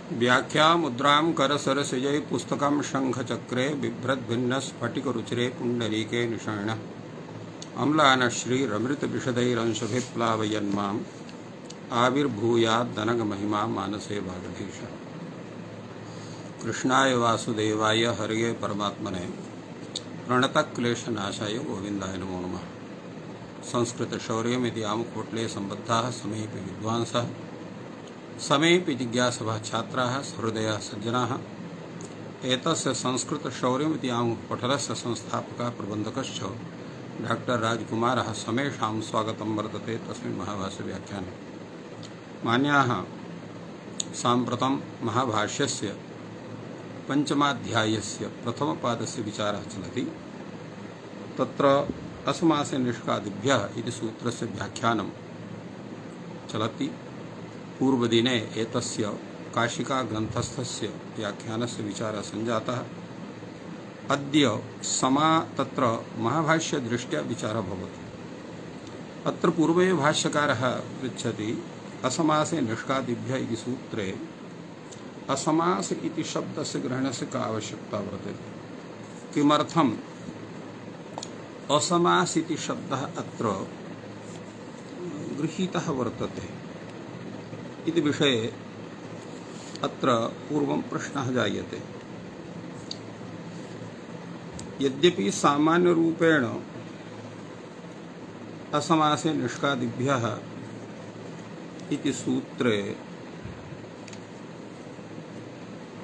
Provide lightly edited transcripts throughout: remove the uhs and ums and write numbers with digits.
व्याख्या मुद्रां करसरसिजै पुस्तकं शंखचक्रे बिभ्रद्भिन्न स्फटिकरुचिरे पुण्डरीके निषण्ण अम्लानश्रीरमृतविशदैरंशभिप्लावयन्माम् आविर्भूयाद्दनगमहिमा मानसे भागधीश। कृष्णाय वासुदेवाय हरये परमात्मने प्रणतक्लेशनाशाय गोविन्दाय नमो नमः। संस्कृतशौर्यमिति आमुकोट्ले सम्बद्धाः समेऽपि विद्वांसः समेऽपि जिज्ञासवः छात्राः सहृदयाः सज्जनाः। एतस्य संस्कृतशौर्यमिति आमुपटलस्य संस्थापकः प्रबन्धकश्च डॉक्टर राजकुमारः समेषां स्वागतं वर्तते तस्मिन् महाभाष्यव्याख्याने। मान्याः, साम्प्रतं महाभाष्यस्य पंचमाध्यायस्य प्रथमपादस्य विचारः चलति। तत्र असमासे निष्कादिभ्यः इति सूत्रस्य व्याख्यानं चलति। पूर्वदिने एतस्य काशिका ग्रन्थस्थस्य व्याख्यानस्य विचारः सञ्जातः। अद्य तत्र महाभाष्यदृष्ट्या विचारः भवति। अत्र पूर्वे भाष्यकारः पृच्छति असमासे निष्कादिभ्यः इति सूत्रे असमास इति शब्दस्य ग्रहणस्य का आवश्यकता वर्तते। किमर्थम् असमास इति शब्दः अत्र गृहीतः वर्तते इति विषये अत्र पूर्वं प्रश्नः जायते। यद्यपि सामान्य रूपेण असमासे निष्कादिभ्यः इति सूत्रे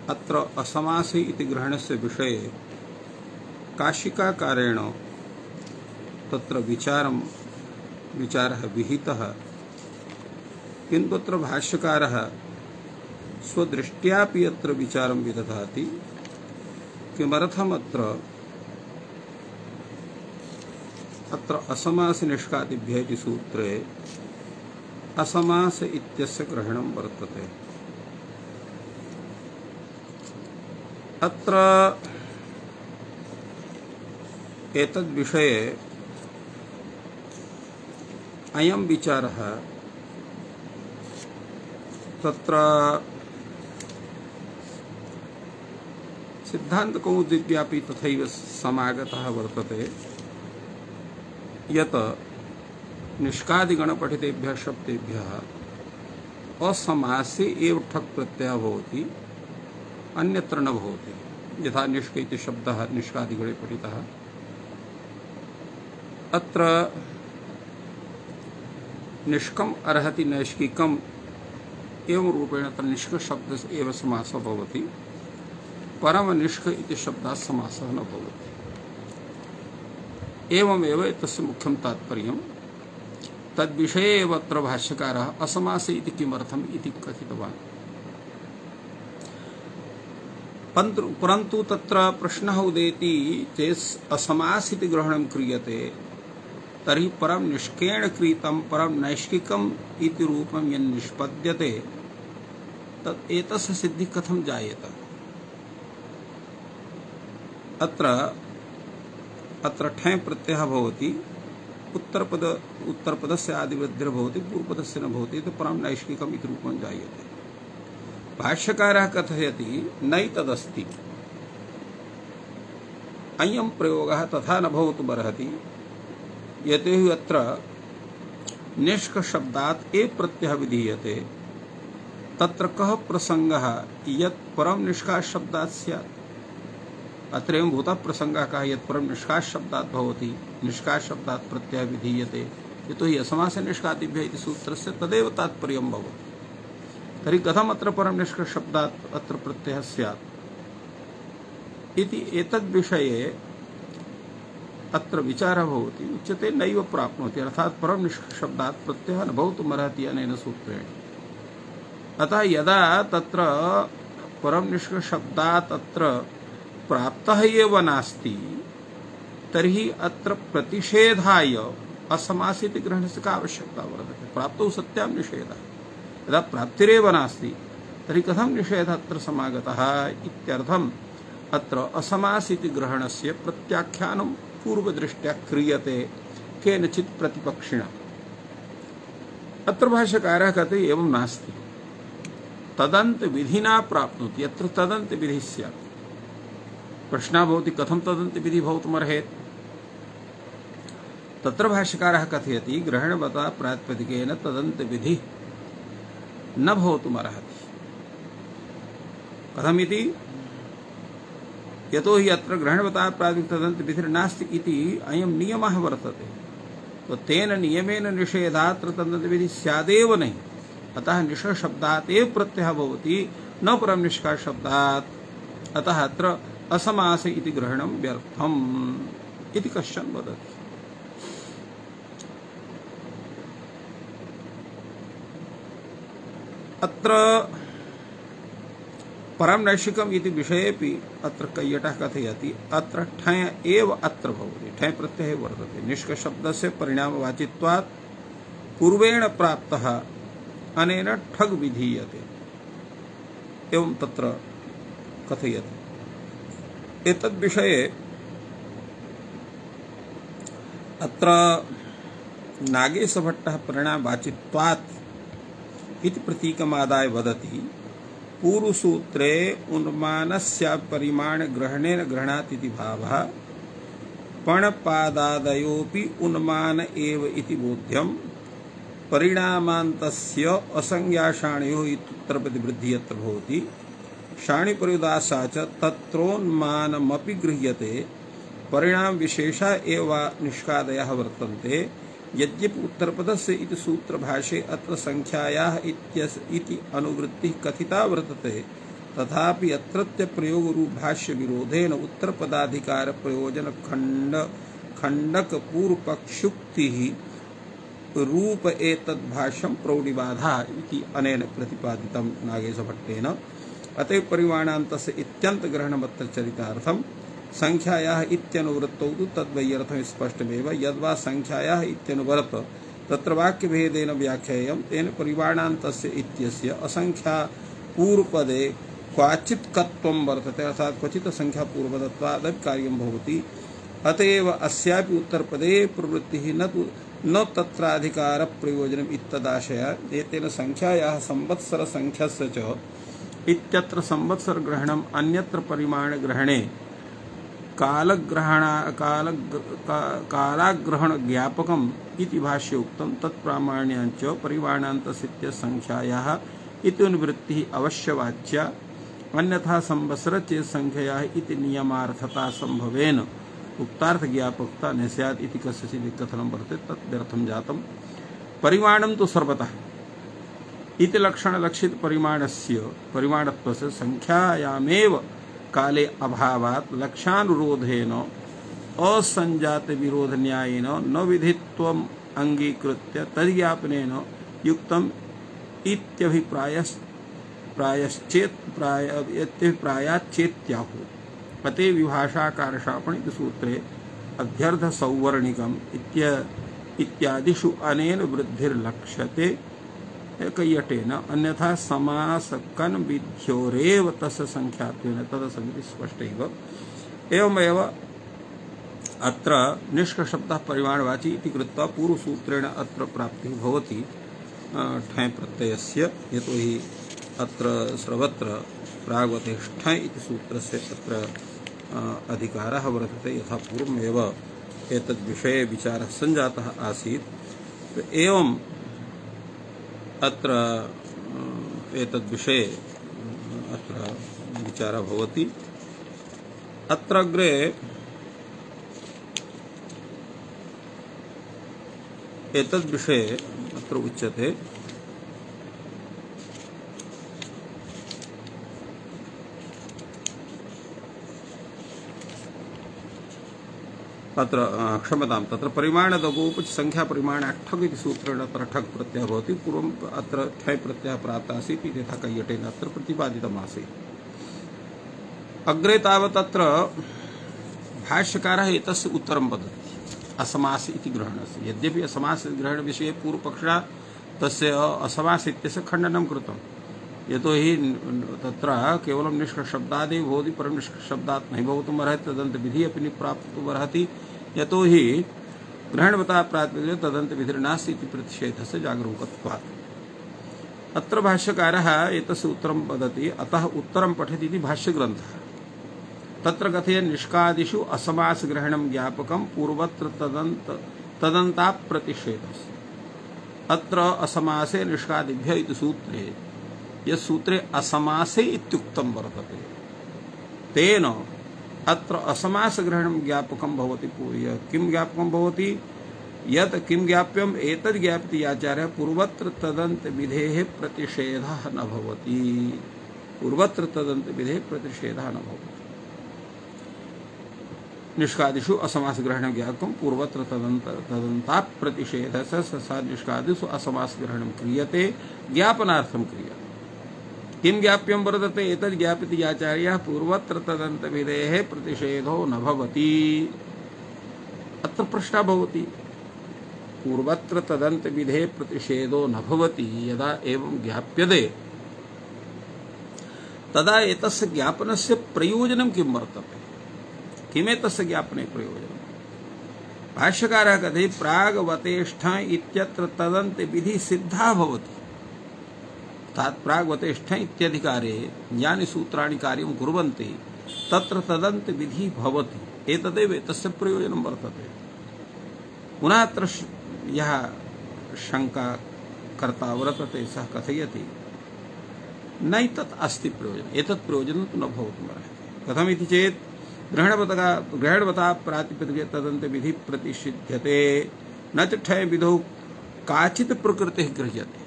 अत्र असमासे इति ग्रहणस्य विषये काशिकाकारेण तत्र विचारः विहितः, किन्तु अत्र भाष्यकारः स्वदृष्ट्यापि अत्र विचारं विदधाति। किमर्थमत्र असमास निष्कादिभ्यः इति सूत्रे असमास इत्यस्य ग्रहणं वर्तते। अत्र एतद्विषये अयं विचारः तत्र सिद्धान्तकौमुदीव्यापि तथैव समागतः वर्तते यत् निष्कादिगणपठितेभ्यः शब्देभ्यः असमासे एव ठक् प्रत्ययः भवति, अन्यत्र न भवति। यथा निष्क इति शब्दः निष्कादिगणे पठितः, अत्र निष्कम् अर्हति नैष्किकम् एवं रूपेण अत्र निष्क शब्दस्य एव समासः भवति, परम निष्क इति शब्दात् समासः न भवति। एवमेव एतस्य मुख्यं तात्पर्यं। तद्विषये एव अत्र भाष्यकारः असमासे इति किमर्थम् इति कथितवान्। परन्तु तत्र प्रश्नः उदेति चेत् असमास इति ग्रहणं क्रियते तर्हि परं निष्केण क्रीतं परं नैष्किकम् इति रूपं यन्निष्पद्यते तत् एतस्य सिद्धिः कथं जायेत। अत्र ठञ् प्रत्ययः भवति, उत्तरपदस्य आदिवृद्धिर्भवति, पूर्वपदस्य न भवति, तो परं नैष्किकम् इति रूपं जायते। भाष्यकारः कथयति नैतदस्ति, अयं प्रयोगः तथा न भवितुमर्हति, यतोहि अत्र निष्क शब्दात् ए प्रत्ययः विधीयते। तत्र कः प्रसङ्गः यत् परं निष्कास शब्दात् स्यात्। अत्र एवं भूतः प्रसङ्गः कः यत् परं निष्कास शब्दात् भवति, निष्कास शब्दात् प्रत्ययः विधीयते, यतोहि असमासे निष्कादिभ्यः इति सूत्रस्य तदेव तात्पर्यं भवति। तर्हि कथम् अत्र परं निष्कास शब्दात् अत्र प्रत्ययः स्यात् इति एतद्विषये अत्र विचारः भवति। उच्यते नैव प्राप्नोति, अर्थात् परं निष्कास शब्दात् प्रत्ययः न भवितुमर्हति अनेन सूत्रेण। अतः यदा तत्र परं निष्कास शब्दात् अत्र प्राप्तः एव नास्ति तर्हि अत्र प्रतिषेधाय असमास इति ग्रहणस्य का आवश्यकता वर्तते। प्राप्तौ सत्यां निषेधः, यदा प्राप्तिरेव नास्ति तर्हि कथं निषेधः अत्र समागतः इत्यर्थम् अत्र असमास इति ग्रहणस्य प्रत्याख्यानं पूर्वदृष्ट्या क्रियते केनचित् प्रतिपक्षिणा। अत्र भाष्यकारः कहते एवं नास्ति। तदंत विधिना प्राप्नोति यत्र तदंत विधि स्यात्। प्रश्नः भवति कथं तदंत विधि भवितुमर्हेत्। तत्र भाष्यकारः कथयति ग्रहणवता प्रातिपदिकेन तदंत विधि न भवितुमर्हति। कथमिति यतो हि अत्र ग्रहणवता प्रातिपदिक तदंत विधिर्नास्ति इति अयं नियमः वर्तते। तो तेन नियमेन निषेधात्र तदंत विधि स्यादेव नहीं। अतः निषेध शब्दात् एव प्रत्ययः भवति न परम निष्कार शब्दात्। अतः अत्र असमास इति ग्रहणं व्यर्थम् इति कश्चन वदति। अत्र परम नैशिकम् इति विषयेपि अत्र कैयटः कथयति अत्र ठय एव अत्र भवति। ठय प्रत्ययः वर्तते। निष्क शब्दस्य परिणामवाचित्वात् पूर्वेण प्राप्तः अनेन ठग विधीयते एवं तत्र कथयति। एतद्विषये अत्र नागेशभट्टः परिणामवाचित्वात् इति प्रतीकमादाय वदति पूर्वसूत्रे उन्मानस्य परिमाण ग्रहणेन ग्रहणात् इति भावः पणपादादयोपि उन्मान एव इति बोध्यम् परिणामान्तस्य असंज्ञाशाणयोः इत्युत्तरप्रतिवृद्धिः यत्र भवति शाणिपर्युदासा च तत्रोन्मानमपि गृह्यते परिणाम विशेषा एव निष्कादयः वर्तन्ते। यद्यपि उत्तरपदस्य इति सूत्रभाष्ये अत्र संख्यायाः इति अनुवृत्तिः कथिता वर्तते तथापि अत्रत्य प्रयोगरूप भाष्य विरोधेन उत्तरपदाधिकार प्रयोजन खंडक पूर्वपक्षुक्तिः रूप एतद्भाष्यं प्रौढिबाधा इति अनेन प्रतिपादितं नागेशभट्टेन। अतः परिमाणान्तस्य इत्यन्त ग्रहणमत्र चरितार्थं संख्यायाः इत्यनुवृत्तौ तु तद्वैयर्थं स्पष्टमेव। यद्वा संख्यायाः इत्यनुवृत्त तत्र वाक्यभेदेन व्याख्यायं तेन परिमाणान्तस्य इत्यस्य असंख्या पूर्वपदे क्वचित् कत्वं वर्तते अर्थात् क्वचित् संख्या पूर्वपदत्वादपि कार्यं भवति। अतएव अस्यापि उत्तरपदे प्रवृत्तिः न तत्राधिकार प्रयोजनम् इत्तदाशयात्। एतेन संख्यायाः संवत्सर संख्यस्य च इत्यत्र संवत्सर ग्रहणम् अन्यत्र परिमाण ग्रहणे कालाग्रहण ज्ञापकम् इति भाष्ये उक्तं तत्प्रामाण्याञ्च परिमाणान्तस्य संख्यायाः इत्यनुवृत्तिः अवश्यवाच्या। अन्यथा संवत्सर चेत् संख्यायाः इति नियमार्थता संभवेन उक्तार्थ ज्ञापकता न स्यात् इति कस्यचित् कथनं वर्तते तत् व्यर्थं जातम्। परिमाणं तु सर्वतः इति लक्षण लक्षित परिमाणत्वस्य संख्यायामेव काले अभावात् लक्ष्यानुरोधेन असंजात विरोध न्यायेन न विधित्वम् अंगीकृत्य तद्ज्ञापनेन युक्तम् प्रायाश्चेत्याहुः। अते विभाषाकारशापण इति सूत्रे अध्यर्थ सौवर्णिकम् इत्यादिषु अनेन वृद्धिर्लक्ष्यते कैयटेन। अन्यथा समासकन विध्योरेव तस्य संख्यात्वेन तदसमिति स्पष्टैव। एवमेव अत्र निष्कशब्दः परिमाणवाची इति कृत्वा पूर्वसूत्रेण अत्र प्राप्तिः भवति ठञ् प्रत्ययस्य। यतो हि अत्र सर्वत्र प्राग्वते ठञ् इति सूत्रस्य अत्र अधिकारः वर्तते यथा पूर्वमेव एतद्विषये विचारः सञ्जातः आसीत्। एवं अत्र एतद्विषये अत्र विचारः भवति। अत्र अग्रे एतद्विषये अत्र उच्यते अत्र क्षम्यतां तत्र परिमाणदगोपच संख्या परिमाण ठग इति सूत्रेण अत्र ठग प्रत्ययः भवति। पूर्वम् अत्र ठञ् प्रत्ययः प्राप्तः आसीत् इति यथा कैयटेन अत्र प्रतिपादितमासीत्। अग्रे तावत् अत्र भाष्यकारः एतस्य उत्तरं वदति असमास इति ग्रहणस्य। यद्यपि असमास ग्रहणविषये पूर्वपक्षः तस्य असमास इत्यस्य खण्डनं कृतं। यतो हि तत्र केवलं निष्कशब्दादेव भवति परं निष्कशब्दात् नहि भवितुमर्हति तदन्तविधिः अपि न प्राप्तुमर्हति। यतो हि ग्रहणवता प्रातिपदिके तदन्तविधिर्नास्ति इति प्रतिषेधस्य जागरूकत्वात्। अत्र भाष्यकारः एतस्य उत्तरं वदति, अतः उत्तरं पठति इति भाष्यग्रन्थः। तत्र कथयन् निष्कादिषु असमासग्रहणं ज्ञापकं पूर्वत्र तदन्ताप्रतिषेधः। अत्र असमासे निष्कादिभ्य इति सूत्रे यत् सूत्रे असमासे इत्युक्तं वर्तते, तेन अत्र असमासग्रहणं ज्ञापकं भवति। किं ज्ञापकं भवति? यत् किं ज्ञाप्यम् एतद् ज्ञाप्यते आचार्यः पूर्वत्र तदन्त विधेः प्रतिषेधः न भवति। पूर्वत्र तदन्त विधेः प्रतिषेधः न भवति। निष्कादिषु असमासग्रहणं ज्ञापकं पूर्वत्र तदन्तात् प्रतिषेधः स निष्कादिषु असमासग्रहणं क्रियते, ज्ञापनार्थं क्रियते। किं ज्ञाप्यं वर्तते? एतद् ज्ञाप्यते आचार्यः पूर्वत्र तदन्त विधेः प्रतिषेधो न भवति। अत्र प्रश्नः भवति, पूर्वत्र तदन्त विधेः प्रतिषेधो न भवति यदा एवं ज्ञाप्यते, तदा एतस्य ज्ञापनस्य प्रयोजनं किं वर्तते? किमेतस्य ज्ञापने प्रयोजनं? भाष्यकारः कथयति प्राग्वतेष्ठ इत्यत्र तदन्त विधि सिद्धा भवति। तात् प्राग्वतेष्ठ इत्यधिकारे यानि सूत्राणि कार्यं कुर्वन्ति तत्र तदन्त विधि भवति। एतदेव एतस्य प्रयोजनं वर्तते। पुनः अत्र यः शङ्का कर्ता वर्तते सः कथयति नैतत् अस्ति प्रयोजनम्, एतत् प्रयोजनं तु न भवितुमर्हति। कथमिति चेत् ग्रहणवता प्रातिपदिके तदन्त विधि प्रतिषिध्यते, न च ठय विधौ काचित् प्रकृतिः गृह्यते।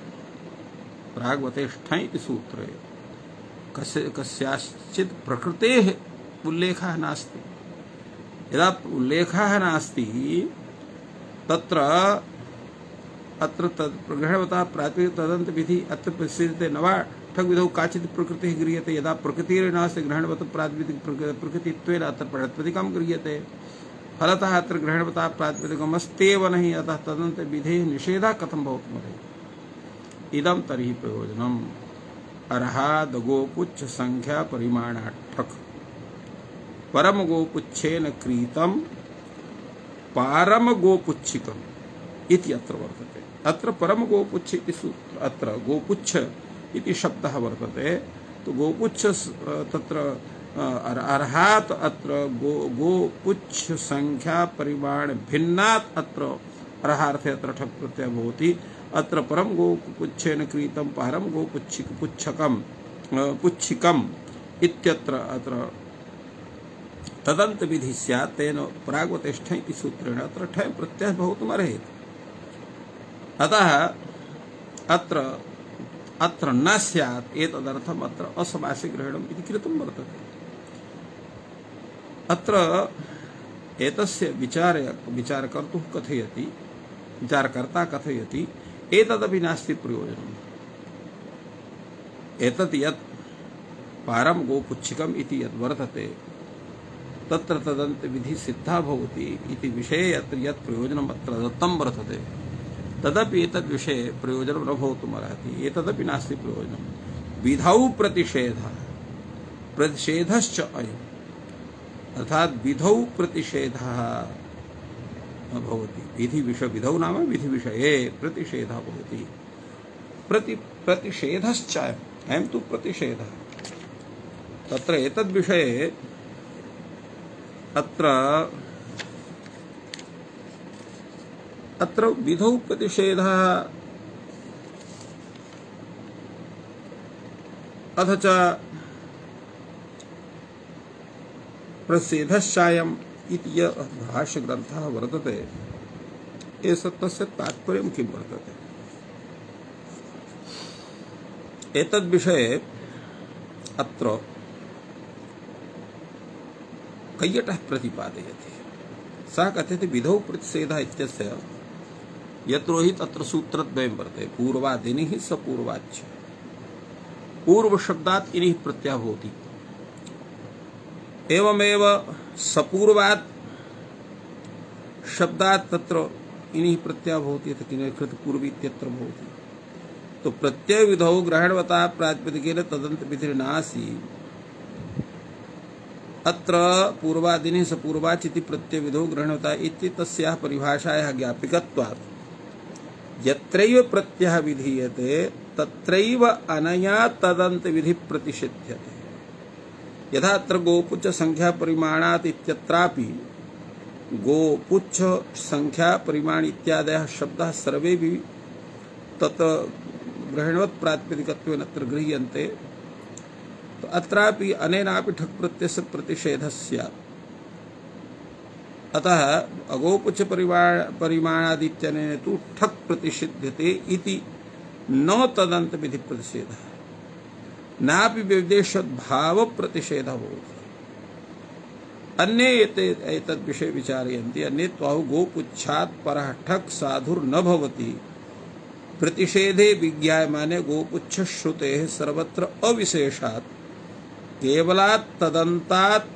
प्राग्वतेष्ठ इति सूत्रे कस्याश्चित् प्रकृतेः उल्लेखः नास्ति। यदा उल्लेखः नास्ति तत्र अत्र ग्रहणवता प्रातिपदिके तदन्त विधि अत्र प्रसिद्धते न वा ठग विधौ काचित् प्रकृतिः गृह्यते। यदा प्रकृतिर्नास्ति ग्रहणवत प्रातिपदिक प्रकृतित्वेन अत्र प्रातिपदिकं गृह्यते। फलतः अत्र ग्रहणवता प्रातिपदिकमस्त्येव नहि, अतः तदन्त विधेः निषेधः कथं भवितुमर्हति? इदं तर्हि प्रयोजनम् अर्हाद गोपुच्छ संख्या परिमाणाठक परम गोपुच्छेन क्रीतं पारम गोपुच्छिकम् इति अत्र वर्तते। अत्र परम गोपुच्छ इति सूत्र, अत्र गोपुच्छ इति शब्दः वर्तते। तो गोपुच्छ तत्र अर्हात् अत्र गोपुच्छ संख्या परिमाण भिन्नात् अत्र अर्हार्थे अत्र ठक् प्रत्ययः भवति। अत्र परम गोपुच्छेन क्रीतं पारम गोपुच्छिकम् इत्यत्र अत्र तदन्त विधि स्यात्, तेन प्राग्वतेष्ठ इति सूत्रेण अत्र ठय प्रत्ययः भवितुमर्हति। अतः अत्र न स्यात्, एतदर्थम् अत्र असमासे ग्रहणम् इति कृतं वर्तते। अत्र एतस्य विचारकर्तुः कथयति, विचारकर्ता कथयति एतदपि नास्ति प्रयोजनम्। एतत् यत् पारम गोपुच्छिकम् इति यत् वर्तते तत्र तदन्त विधि सिद्धा भवति इति विषये अत्र यत् प्रयोजनम् अत्र दत्तं वर्तते तदपि एतद् विषये प्रयोजनं न भवितुमर्हति। एतदपि नास्ति प्रयोजनं। विधौ प्रतिषेधश्च अयम्, अर्थात् विधौ प्रतिषेधः भवति। विधौ नाम विधि विषये प्रतिषेधः भवति। प्रतिषेधश्च अयं तु प्रतिषेधः। तत्र एतद् विषये अत्र विधौ प्रतिषेधः अथ च प्रतिषेधश्चायम् इति यः भाष्यग्रन्थः वर्तते, तस्य तात्पर्यं किं वर्तते? एतद्विषये अत्र कैयटः प्रतिपादयति। सः कथयति विधौ प्रतिषेधः इत्यस्य यत्रो हि तत्र सूत्रद्वयं वर्तते, पूर्वादिनिः स पूर्वाच्च। पूर्वशब्दात् इनिः प्रत्ययः भवति, एवमेव सपूर्वात् शब्दात् तत्र इनिः प्रत्ययः भवति, यत् किञ्चित् पूर्वी इत्यत्र भवति। तो प्रत्यय विधौ ग्रहणवता प्रातिपदिकेन तदन्त विधिर्नासी। अत्र पूर्वादिने सपूर्वाच् इति प्रत्यय विधौ ग्रहणवता इति तस्याः परिभाषायाः ज्ञापिकत्वात् यत्रैव प्रत्ययः विधीयते तत्रैव अनया तदन्त विधि प्रतिषिध्यते। यथा अत्र गोपुच्छ संख्या परिमाणात् इत्यत्रापि गोपुच्छ संख्या परिमाण इत्यादयः शब्दाः सर्वे भी तत् ग्रहणवत् प्रातिपदिकत्वेन अत्र गृह्यन्ते। तो अत्रापि अनेनापि ठक् प्रत्ययस्य प्रतिषेधः स्यात्। अतः अगोपुच्छ परिमाणादित्यनेन तु ठक् प्रतिषिध्यते इति न तदन्त विधि प्रतिषेधः नापि विदेशद्भाव प्रतिषेधः भवति। अन्ये एतद् विषये विचारयन्ति। अन्ये त्वाहु गोपुच्छात् परः ठक् साधुर्न भवति। प्रतिषेधे विज्ञायमाने गोपुच्छ श्रुतेः सर्वत्र अविशेषात् केवलात् तदन्तात्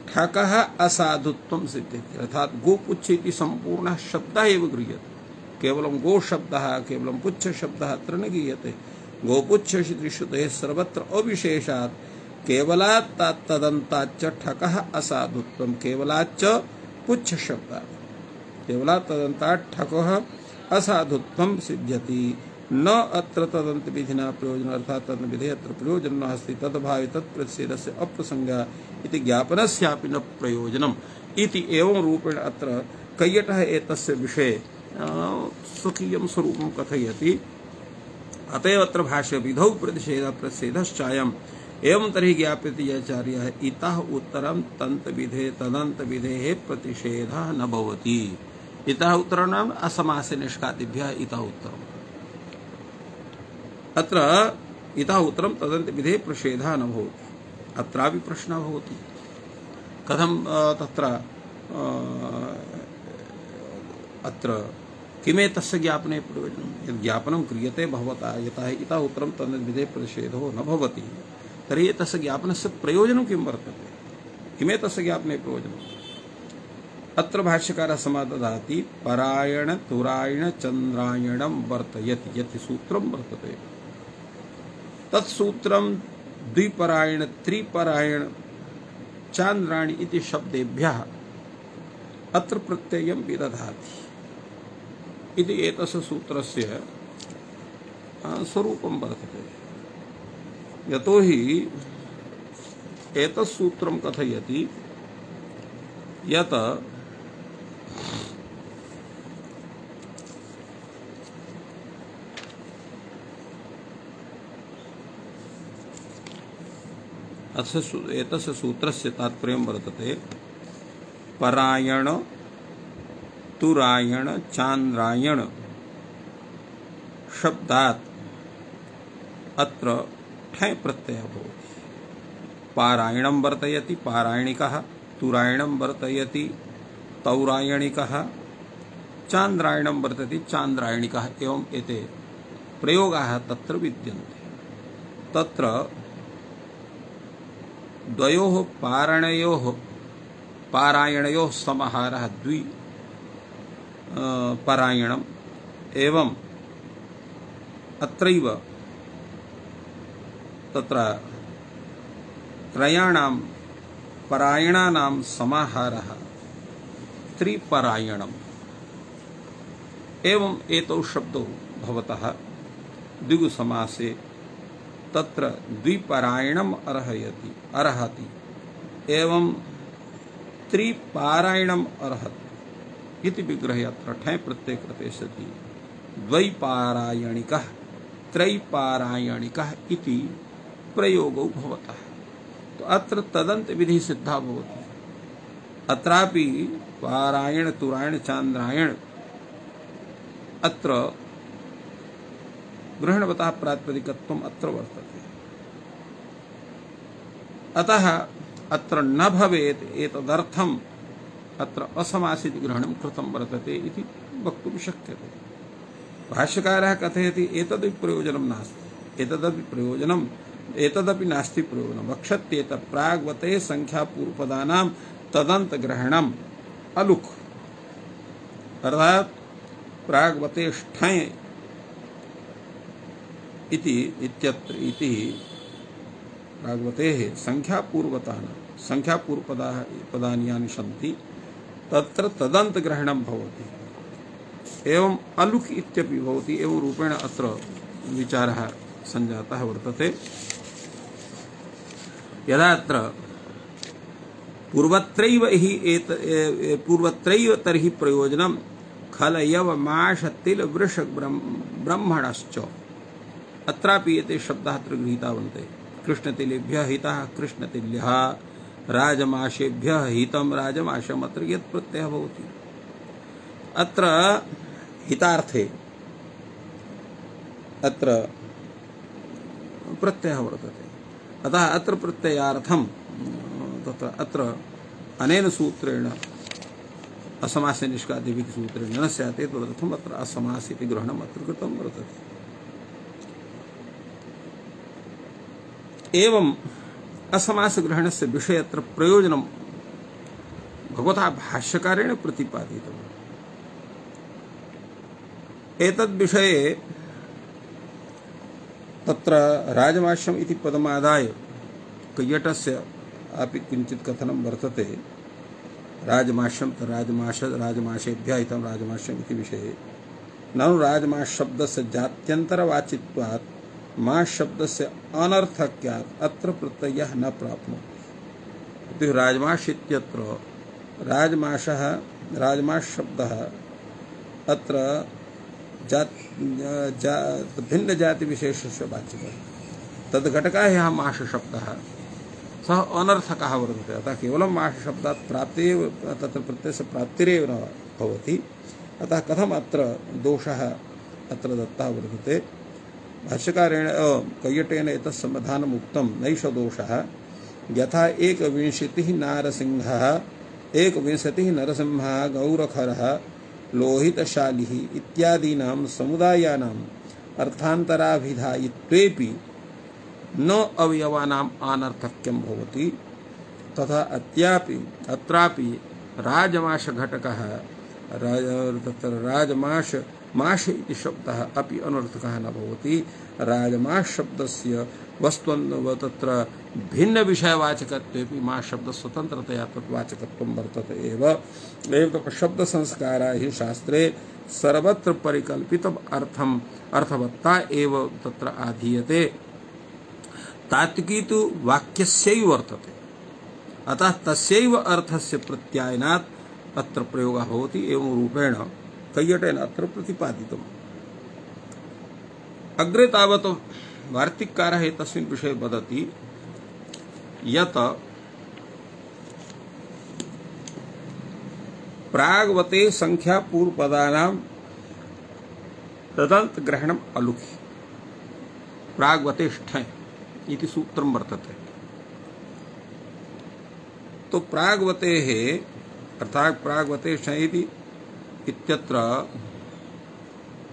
ठकः असाधुत्वं सिद्ध्यति। अर्थात् गोपुच्छ इति सम्पूर्णः शब्दः एव गृह्यते। केवलं गो शब्दः केवलं पुच्छ शब्दः अत्र न गीयते। गोपुच्छ श्रुतेः सर्वत्र अविशेषात् केवलात् तदन्ताच्च ठकः असाधुत्वं केवलाच्च पुच्छ शब्दात् केवलात् तदन्तात् ठकः असाधुत्वं सिद्ध्यति। न अत्र तदन्त विधिना प्रयोजन अर्थात् तदन्त विधे अत्र प्रयोजन नास्ति। तद्भावे तत्प्रतिषेधस्य अप्रसंगा इति ज्ञापनस्यापि न प्रयोजनम् इति एवं रूपेण अत्र कैयटः एतस्य विषये स्वकीयं स्वरूपं कथयति। अतएव अत्र भाष्य विधौ प्रतिषेधश्चायम् एवं तर्हि ज्ञाप्यते आचार्यः इतः उत्तरं तदन्त विधेः प्रतिषेधः न भवति। इतः उत्तरं नाम असमासे निष्कादिभ्यः इतः उत्तरम्। अत्र इतः उत्तरं तदन्त विधेः प्रतिषेधः न भवति। अत्रापि प्रश्नः भवति कथं तत्र अत्र किमेतस्य ज्ञापने प्रयोजनं। यद् ज्ञापनं क्रियते भवता यतः इतः उत्तरं तदन्त विधेः प्रतिषेधो न भवति तर्हि एतस्य ज्ञापनस्य प्रयोजनं किं वर्तते। किमेतस्य ज्ञापने प्रयोजनम्। अत्र भाष्यकारः समाददाति परायण तुरायण चन्द्रायणं वर्तयति यत् सूत्रं वर्तते। तत्सूत्रं द्विपरायण त्रिपरायण चान्द्राणि इति शब्देभ्यः अत्र प्रत्ययं विदधाति इति एतस्य सूत्रस्य स्वरूपं वर्तते। यतोहि एतत् सूत्रं कथयति यत् एतस्य सूत्रस्य तात्पर्यं वर्तते परायण तुरायण चान्द्रायण शब्दात् अत्र ठञ् प्रत्ययः भवति। पारायणं वर्तयति पारायणिकः तुरायणं वर्तयति तौरायणिकः चान्द्रायणं वर्तते चान्द्रायणिकः एवं एते प्रयोगाः तत्र विद्यन्ते। तत्र द्वयोः पारायणयोः समाहारः द्वि परायणम् एवं अत्रैव तत्र त्रयाणां परायणानां समाहारः त्रिपरायणम् एवं एतौ शब्दौ भवतः द्विगुसमासे तत्र द्विपरायणम् अर्हति एवं त्रिपारायणम् अर्हति इति विग्रहे अत्र ठञ् प्रत्यय कृते सति द्वैपारायणिकः त्रैपारायणिकः इति प्रयोगो भवतः। तो अत्र तदन्त विधि सिद्धा भवति। अत्रापि पारायण तुरायण चान्द्रायण अत्र ग्रहणवतः प्रातिपदिकत्वम् अत्र वर्तते। अतः अत्र न भवेत् एतदर्थम् अत्र असमासिति ग्रहणं कृतं वर्तते इति वक्तुं शक्यते। भाष्यकारः कथयति एतदपि प्रयोजनं नास्ति एतदपि नास्ति प्रयोजनं वक्षत्येत प्राग्वते संख्यापूर्वपदानां तदन्त ग्रहणम् अलुक् अर्थात् प्राग्वते ठञ् इति प्राग्वतेः संख्यापूर्वपदानि यानि सन्ति तत्र तदन्त ग्रहणं भवति एवं अलुक् इत्यपि भवति। एवं रूपेण अत्र विचारः सञ्जातः वर्तते। यदा अत्र पूर्वत्रैव तर्हि प्रयोजनं खलयव माश तिल वृष ब्रह्मणश्च, अत्रापि एते शब्दाः अत्र गृहीता वर्तन्ते। कृष्णतिलेभ्यः हितः कृष्णतिल्यः, राजमाशेभ्यः हितं राजमाशम्, अत्र यत् प्रत्ययः भवति अत्र हितार्थे अत्र प्रत्ययः वर्तते। अतः अत्र प्रत्ययार्थं तत्र अत्र अनेन सूत्रेण असमास्य निष्कादिभिः सूत्रेण न स्यात्, तदर्थम् अत्र असमास इति ग्रहणम् अत्र कृतं वर्तते। एवं असमास ग्रहणस्य विषये अत्र प्रयोजनं भगवता भाष्यकारेण प्रतिपादितम्। एतद्विषये तत्र राजमाश्यम् इति पदमादाय कैयटस्य अपि किञ्चित् कथनं वर्तते। राजमाश्यं राजमाशेभ्यः हितं राजमाश्यम् इति विषये ननु राजमाश शब्दस्य जात्यन्तरवाचित्वात् माश शब्दस्य अनर्थक्यात् अत्र प्रत्ययः न प्राप्नोति। राजमाश इत्यत्र राजमाश शब्दः अत्र भिन्न जाति विशेषस्य वाच्यः, तद्घटकः यः माश शब्दः सः अनर्थकः वर्तते। अतः केवलं माश शब्दात् प्राप्तिरेव तत्र प्रत्ययस्य प्राप्तिरेव न भवति। अतः कथम् अत्र दोषः अत्र दत्तः वर्तते। भाष्यकारेण कैयटेन एतत् समाधानम् उक्तं। नैष दोषः यथा एकविंशतिः नरसिंहः गौरखरः लोहितशालिः इत्यादीनां समुदायानाम् अर्थान्तराभिधायित्वेपि न अवयवानाम् अनर्थक्यं भवति, तथा अत्रापि राजमाश घटकः तत्र माश इति शब्दः अपि अनर्थकः न भवति। राजमाश शब्दस्य तत्र भिन्न विषयवाचकत्वेपि माश शब्द स्वतन्त्रतया तद्वाचकत्वं वर्तते एव। शब्द संस्कारा हि शास्त्रे सर्वत्र परिकल्पितम् अर्थवत्ता एव तत्र आधीयते। तात्विकी तु वाक्यस्यैव वर्तते, अतः तस्यैव अर्थस्य प्रत्यायनात् अत्र प्रयोगः भवति। एवं रूपेण कैयटेन अत्र प्रतिपादितम्। अग्रे तावत् वार्तिककारः एतस्मिन् विषये वदति यत् प्राग्वते संख्यापूर्वपदानां तदन्तग्रहणम् अलुखि प्राग्वतेष्ठे इति सूत्रं वर्तते। तो प्राग्वतेः अर्थात् प्राग्वतेष्ठे इत्यत्र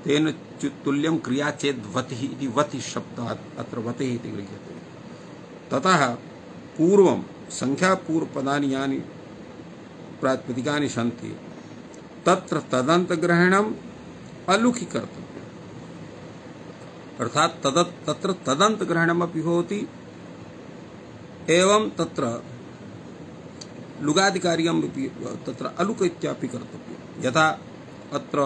तेन तुल्यं क्रिया चेत् वतिः इति वति शब्दात् अत्र वतिः इति गृह्यते। ततः पूर्वं संख्यापूर्वपदानि यानि प्रातिपदिकानि सन्ति तत्र तदन्तग्रहणम् अलुखि कर्तव्यम्, अर्थात् तत्र तदन्तग्रहणमपि भवति। एवं तत्र लुगादिकार्यमपि तत्र अलुक इत्यापि कर्तव्यम्। यथा अत्र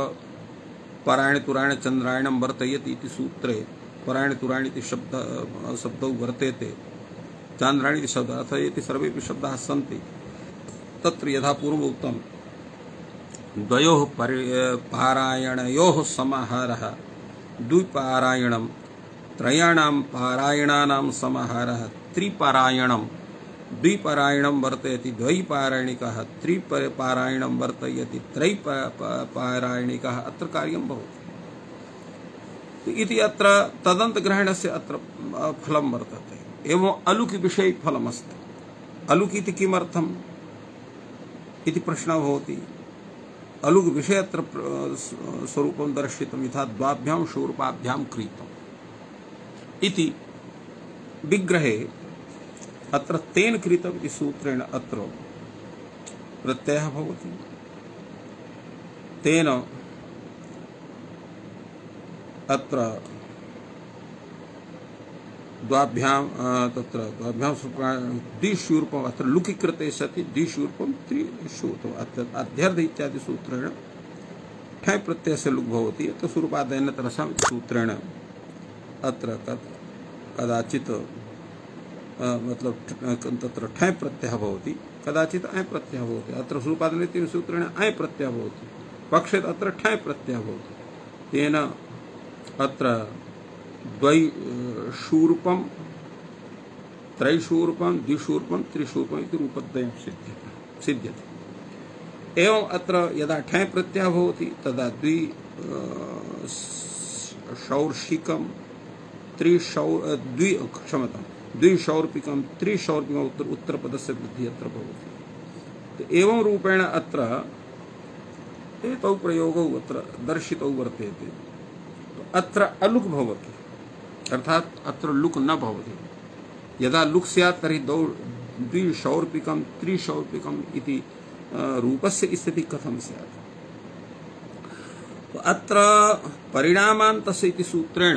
परायण तुरायण चन्द्रायणं वर्तयति इति सूत्रे परायण तुरायण इति शब्दौ वर्तेते, चान्द्रायण इति शब्दः अर्थात् एते सर्वेपि शब्दाः सन्ति। तत्र यथा पूर्वम् उक्तं द्वयोः पारायणयोः समाहारः द्विपारायणं, त्रयाणां पारायणानां समाहारः त्रिपारायणं, द्विपारायणं वर्तयति द्वैपारायणिकः, त्रिपारायणं वर्तयति त्रैपारायणिकः, अत्र कार्यं भवति इति अत्र तदन्तग्रहणस्य अत्र फलं वर्तते। एवं अलुकि विषये फलमस्ति। अलुकि इति किमर्थम् इति प्रश्नः भवति। अलुक विषये अत्र स्वरूपं दर्शितं यथा द्वाभ्यां शूर्पाभ्यां क्रीतम् इति विग्रहे अत्र तेन कृतम् इति सूत्रेण अत्र प्रत्ययः भवति। तेन अत्र द्वाभ्यां तत्र द्वाभ्यां द्विशूर्पम् अत्र लुकि कृते सति द्विशूर्पं त्रिशूर्पम् अध्यर्थ इत्यादि सूत्रेण ठै प्रत्ययस्य लुक् भवति। अत्र सूर्पादयनतरसां सूत्रेण अत्र कदाचित् मतलब तत्र ठञ् प्रत्ययः भवति, कदाचित् अञ् प्रत्ययः भवति। अत्र सूपादनित्येन सूत्रेण अञ् प्रत्ययः भवति, पक्षे अत्र ठञ् प्रत्ययः भवति। तेन अत्र द्वैशूर्पं त्रैशूर्पं द्विशूर्पं त्रिशूर्पम् इति रूपद्वयं सिद्ध्यते। एवं अत्र यदा ठञ् प्रत्ययः भवति तदा द्विशौर्षिकं द्विशौर्पिकं त्रिशौर्पिकम् उत्तरपदस्य वृद्धिः अत्र भवति। एवं रूपेण अत्र एतौ प्रयोगौ अत्र दर्शितौ वर्तेते। अत्र अलुक् भवति, अर्थात् अत्र लुक् न भवति। यदा लुक् स्यात् तर्हि द्विशौर्पिकं त्रिशौर्पिकम् इति रूपस्य स्थितिः कथं स्यात्? अत्र परिणामान्तस्य इति सूत्रेण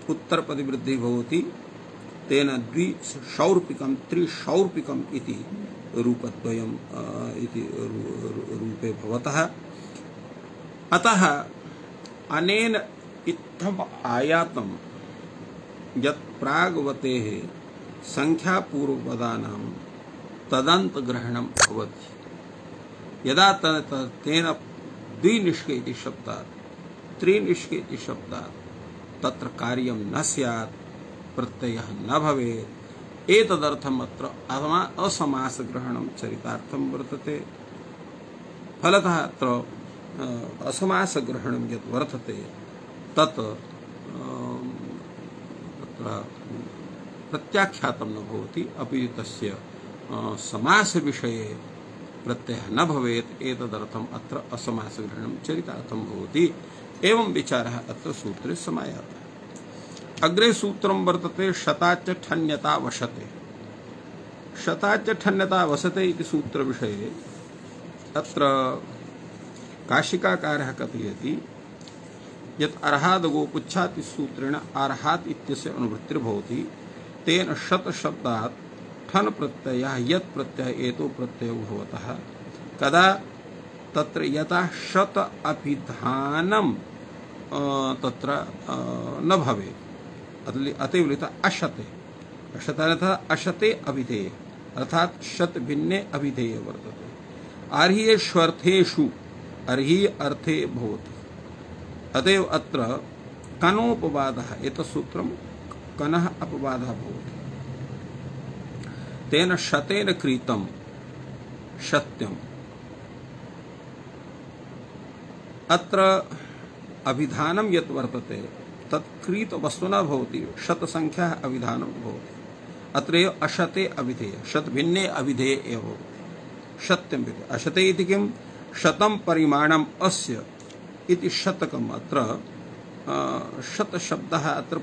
उत्तरपदिवृद्धिः भवति। तेन द्विशौर्पिकं त्रिशौर्पिकम् इति रूपद्वयम् इति रूपे भवतः। अतः अनेन इत्थम् आयातं यत् प्राग्वतेः संख्यापूर्वपदानां तदन्तग्रहणं भवति। यदा तेन द्विनिष्के इति शब्दात् त्रिनिष्के इति शब्दात् तत्र कार्यं न स्यात्, प्रत्ययः न भवेत्। एतदर्थम् अत्र असमासग्रहणं चरितार्थं वर्तते। फलतः अत्र असमासग्रहणं यत् वर्तते तत् प्रत्याख्यातं न भवति, अपि तस्य समासविषये प्रत्ययः न भवेत्। एतदर्थम् अत्र असमासग्रहणं चरितार्थं भवति। एवं विचारः अत्र सूत्रे समायातः। अग्रे सूत्रं वर्तते शताच्च ठन्यता वशते। शताच्च ठन्यता वसते इति सूत्रविषये अत्र काशिकाकारः कथयति यत् अर्हादगोपुच्छात् सूत्रेण अर्हात् इत्यस्य अनुवृत्तिर्भवति। तेन शत शब्दात् ठन् प्रत्ययः यत् प्रत्ययः एतो प्रत्ययो भवतः कदा तत्र यथा शत अभिधानं तत्र न भवेत्। अतएव लिखिता अशते। अशते अर्थात् अशते अभिधेय, अर्थात् शत भिन्ने अभिधेय वर्तते। अर्ह्येष्वर्थेषु अर्हि अर्थे भवति। अतएव अत्र कनोपवादः एतत् सूत्रं कनः अपवादः भवति। तेन शतेन क्रीतं सत्यम्। अत्र अभिधानं यत् वर्तते तत् क्रीत वस्तुना भवति, शत संख्या अभिधानं भवति। अत्रैव अशते अभिधेय, शत भिन्ने अभिधेय एव भवति। सत्यं अशते इति किं? शतं परिमाणम् अस्य इति शतकम्। अत्र शतशब्दः अत्र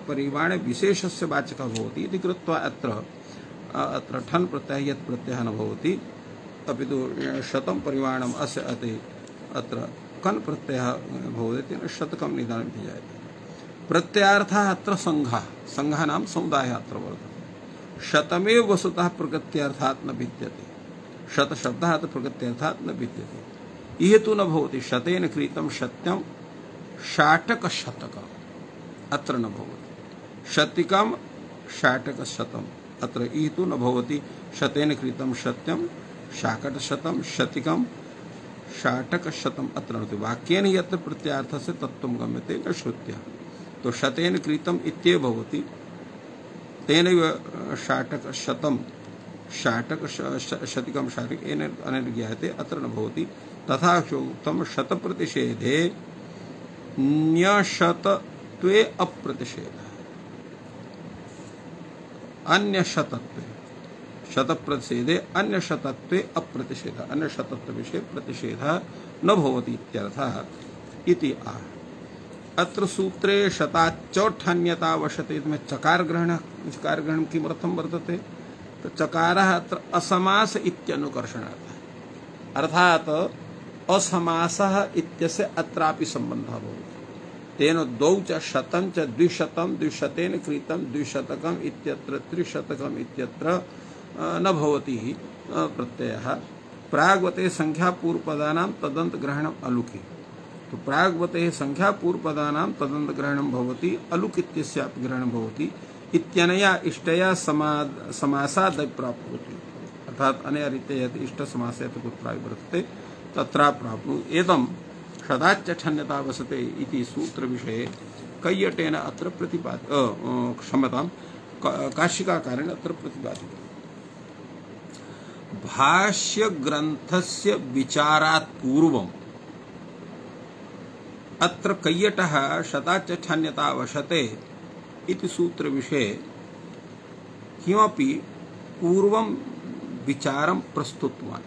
परिमाणे विशेषस्य वाचकः भवति इति कृत्वा अत्र ठन् प्रत्ययः यत् प्रत्ययः न भवति, अपि तु शतं परिमाणम् अस्य अत्र कन् प्रत्ययः भवति। तेन शतकं निदानं जायते। प्रत्ययार्थः अत्र संघानां समुदायः अत्र वर्तते। शतमेव वस्तुतः प्रकृत्यर्थात् न भिद्यते। शतशब्दः अत्र प्रकृत्यर्थात् न भिद्यते। इह तु न भवति। शतेन क्रीतं सत्यं शाटकशतकम् अत्र न भवति। शतिकं शाटकशतम् अत्र इह तु न भवति। शतेन क्रीतं सत्यं शाकटशतं शतिकं शाटकशतम् अत्र न भवति। वाक्येन यत्र प्रत्यार्थस्य तत्त्वं गम्यते न श्रुत्या। तो शतेन क्रीतम् इत्येव भवति। तेनैव शाटकशतं शतिकं शाटिक अनेन ज्ञायते, अत्र न भवति। तथा उक्तं शतप्रतिषेधे न्यशतत्वे अप्रतिषेधः। अन्यशतत्वे शतप्रतिषेधे अन्यशतत्वे अप्रतिषेधः। अन्यशतत्व विषये प्रतिषेधः न भवति इत्यर्थः इति आह। अत्र सूत्रे शताच्चौठन्यता वशते में चकार ग्रहण किमर्थं वर्तते? तो चकारः अत्र असमास इत्यनुकर्षणार्थः, अर्थात् असमासः इत्यस्य अत्रापि सम्बन्धः भवति। तेन द्वौ च शतं च द्विशतं द्विशतेन क्रीतं द्विशतकम् इत्यत्र त्रिशतकम् इत्यत्र न भवति प्रत्ययः। प्राग्वते संख्यापूर्वपदानां तदन्तग्रहणम् अलुकि। तो प्राग्वते संख्या पूर्वपदानां तदन्तग्रहणं भवति अलुक इत्यस्यापि ग्रहणं भवति इत्यनया इष्टया समासाद् प्राप्नोति अर्थात अनया रीत्या यदि इष्ट समासे कुत्र वर्तते तत्र प्राप्नुत् एतं सदाच्च ठन्यता वसते इति सूत्र विषये कैयटेन अत्र क्षम्यतां काशिकाकारेण अत्र प्रतिपादितम्। भाष्य ग्रंथस्य विचारात् पूर्वम् अत्र कैयटः शताच्च ठन्यता वशते इति सूत्र विषये किमपि पूर्वं विचारं प्रस्तुतवान्।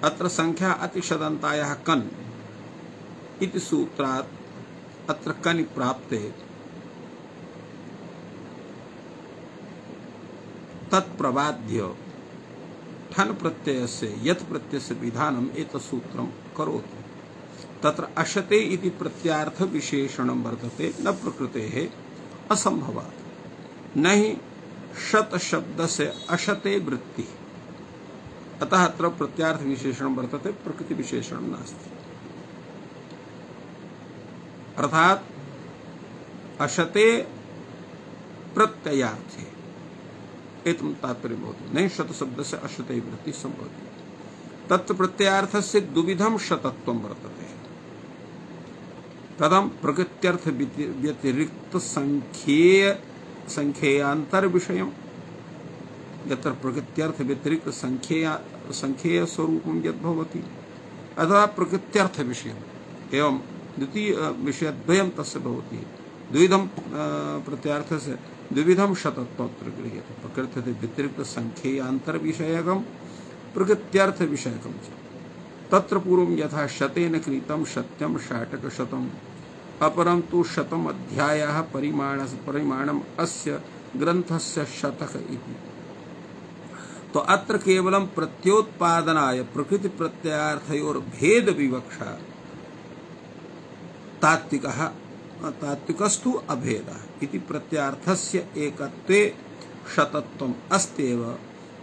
अत्र संख्या अतिशदन्तायाः कन् इति सूत्रात् अत्र कनि प्राप्ते तत्प्रबाद्य ठन प्रत्ययस्य यत् प्रत्ययस्य विधानम् एतत् सूत्रं करोति। तत्र अशते इति प्रत्यार्थ विशेषणं वर्तते न प्रकृतेः असंभवात् न हि शत शब्दस्य अशते वृत्तिः अतः अत्र प्रत्यार्थ विशेषणं वर्तते प्रकृति विशेषणं नास्ति। अर्थात अशते प्रत्ययार्थे एतम तात्पर्य भवति नहीं शत शब्दस्य अशते वृत्ति संभवति। तत्र प्रत्ययार्थस्य द्विविधं शतत्वं वर्तते। कथं प्रकृत्यर्थ व्यतिरिक्त संख्येयांतर विषयम् यत्र प्रकृत्यर्थ व्यतिरिक्त संख्येय स्वरूपं यद् भवति अथवा प्रकृत्यर्थ विषयम् एवं द्वितीय विषयद्वयं तस्य भवति। द्विविधं प्रत्यार्थस्य द्विविधं शतत्वत्र गृह्यते प्रकृत्यर्थ व्यतिरिक्त संख्येयांतर विषयकं प्रकृत्यर्थ विषयकं च। तत्र पूर्वं यथा शतेन कृतं सत्यं षाटक शतम् अपरं तु शतम् अध्यायः परिमाणम् अस्य ग्रन्थस्य शतक इति। तो अत्र केवलं प्रत्योत्पादनाय प्रकृति प्रत्ययार्थयोर भेद विवक्षा तात्विकस्तु अभेदः इति प्रत्यार्थस्य एकत्वे शतत्वम् अस्त्येव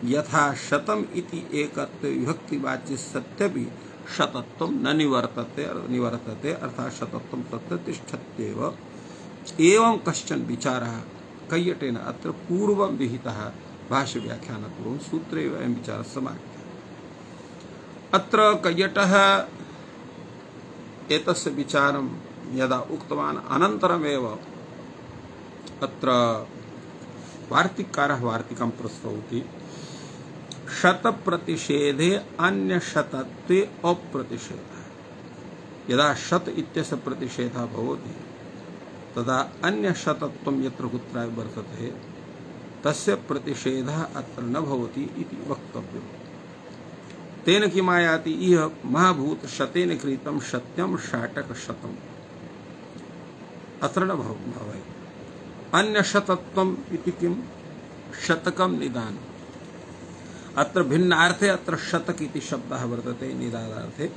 यथा शतम् इति एकत्वे विभक्तिवाच्य सत्यपि शतत्वं न निवर्तते अर्थात शतत्वं तत्र तिष्ठत्येव। एवं कश्चन विचारः कैयटेन अत्र पूर्वं विहितः भाष्य व्याख्यानपूर्वं सूत्रे अयं विचारः समाहितः। अत्र कैयटः एतस्य विचारं यदा उक्तवान् अनन्तरमेव अत्र वार्तिककारः वार्तिकं प्रस्तौति। शतप्रतिषेधे अन्यशतत्वे अप्रतिषेधः यदा शत इत्यस्य प्रतिषेधः भवति तदा अन्यशतत्वं यत्र कुत्रापि वर्तते तस्य प्रतिषेधः अत्र न भवति इति वक्तव्यम्। तेन किमायाति इह महाभूत शतेन कृतं सत्यं षाटक शतम् अत्र न भवेत्। अन्यशतत्वम् इति किं शतकं निदानम् अत्र भिन्नार्थे अत्र शतक इति शब्दः वर्तते निदानार्थे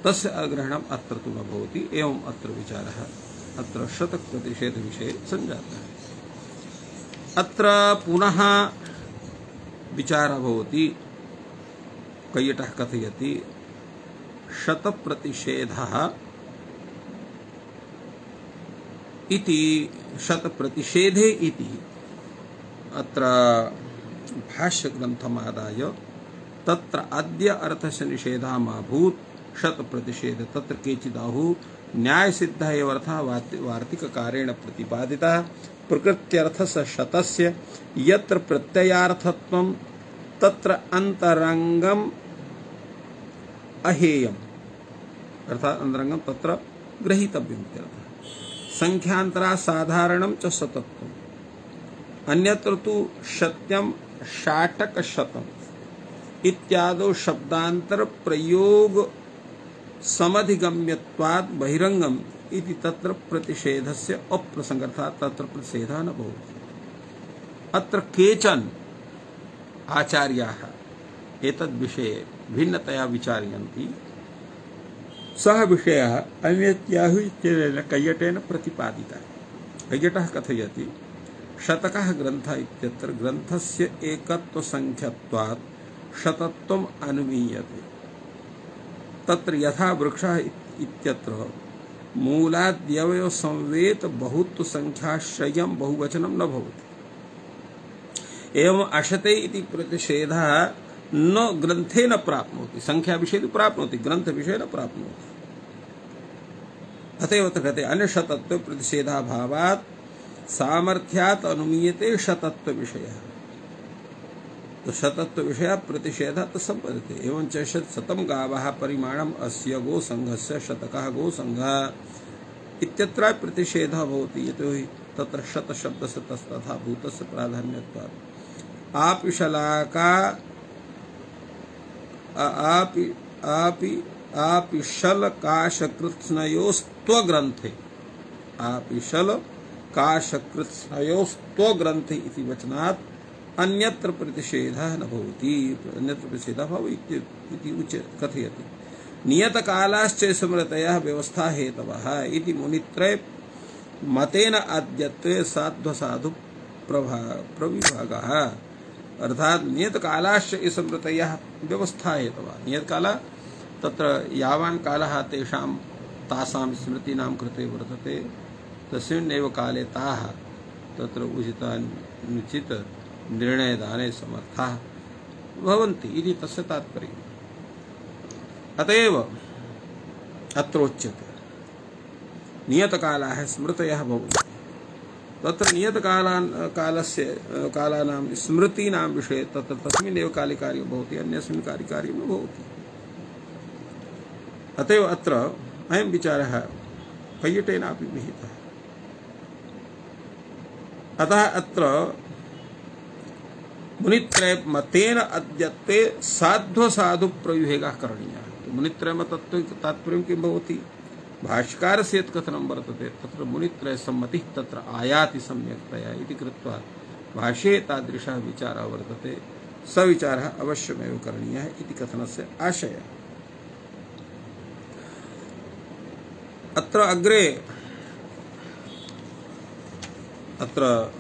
तस्य अग्रहणम् अत्र तु न भवति। एवं अत्र विचारः अत्र शतक प्रतिषेध विषये सञ्जातः। अत्र पुनः विचारः भवति। कैयटः कथयति शत प्रतिषेधः इति शत प्रतिषेधे इति अत्र भाष्य ग्रंथमादाय तत्र अद्य अर्थस्य निषेधः मा भूत् शत प्रतिषेध तत्र केचिदाहुः न्याय सिद्ध एव अर्थः वार्तिककारेण प्रतिपादितः प्रकृत्यर्थस्य शतस्य यत्र प्रत्ययार्थत्वं तत्र अंतरंगम अहेयम् अर्थात अंतरंगम तत्र ग्रहीतव्यम् इत्यर्थः। संख्यांतरा साधारणं च शतत्वम् अन्यत्र तु सत्यं षाटक शतम् इत्यादौ शब्दांतर प्रयोग समधिगम्यत्वात् बहिरंगम इति तत्र प्रतिषेधस्य अप्रसंगर्थात् तत्र प्रतिषेधः न भवति। अत्र केचन आचार्याः एतद् विषये भिन्नतया विचारयन्ति। सः विषयः अन्यत्याहुः इत्यनेन कैयटेन प्रतिपादितः। कैयटः कथयति शतकः ग्रन्थः इत्यत्र ग्रन्थस्य एकत्व संख्यत्वात् शतत्वम् अनुमीयते। तत्र यथा वृक्षः इत्यत्र मूलाद्यवय संवेत बहुत्व संख्याश्रयं बहुवचनं न भवति। एवं अशते इति प्रतिषेधः न ग्रंथे न प्राप्नोति, संख्या विषये तो प्राप्नोति, ग्रंथ विषये न प्राप्नोति। अतएव कहते अन्यशतत्व प्रतिषेधाभावात् सामर्थ्यात् अनुमीयते शतत्व विषयः। तो शतत्व विषय प्रतिषेधः संपद्यते। एवं च शतं गावः परिमाणम् अस्य गोसंघस्य शतकः गोसंघः इत्यत्र प्रतिषेधः भवति, यतोहि तत्र शत शब्दस्य तथा भूतस्य प्राधान्यत्वात्। आपिशलाका आपिशलकाशकृत्स्नयोस्त्वग्रन्थे, आपिशलकाशकृत्स्नयोस्त्वग्रन्थे इति वचनात् अन्यत्र प्रतिषेधः न भवति, अन्यत्र प्रतिषेधः भवति इति कथयति। नियतकालाश्च स्मृतयः व्यवस्था हेतवः इति मुनित्रय मतेन अद्यत्वे साध्वसाधु प्रविभागः। अर्थात नियतकालाश्च स्मृतयः व्यवस्था हेतवः। नियतकाल तत्र यावान् कालः तेषां तासां स्मृतीनां कृते वर्तते, तस्मिन्नेव काले ताः तत्र उचितानुचित निर्णयदाने समर्थाः भवन्ति इति तस्य तात्पर्यम्। अतएव अत्रोच्यते नियतकालाः स्मृतयः भवन्ति। तत्र कालानां स्मृतीनां विषये तत्र तस्मिन्नेव काले कार्यं भवति, अन्यस्मिन् काले कार्यं न भवति। अतएव अत्र अयं विचारः कैयटेनापि विहितः। अतः अत्र मुनित्रय मतेन अद्यत्वे साध्वसाधु प्रविभागः करणीयः। तो मुनित्रय मतत्व तात्पर्यं किं भवति? भाष्यकारस्य यत् कथनं वर्तते तत्र मुनित्रय सम्मतिः तत्र आयाति सम्यक्तया इति कृत्वा भाष्ये तादृशः विचारः वर्तते, स विचारः अवश्यमेव करणीयः इति कथनस्य आशयः। अत्र अग्रे अत्र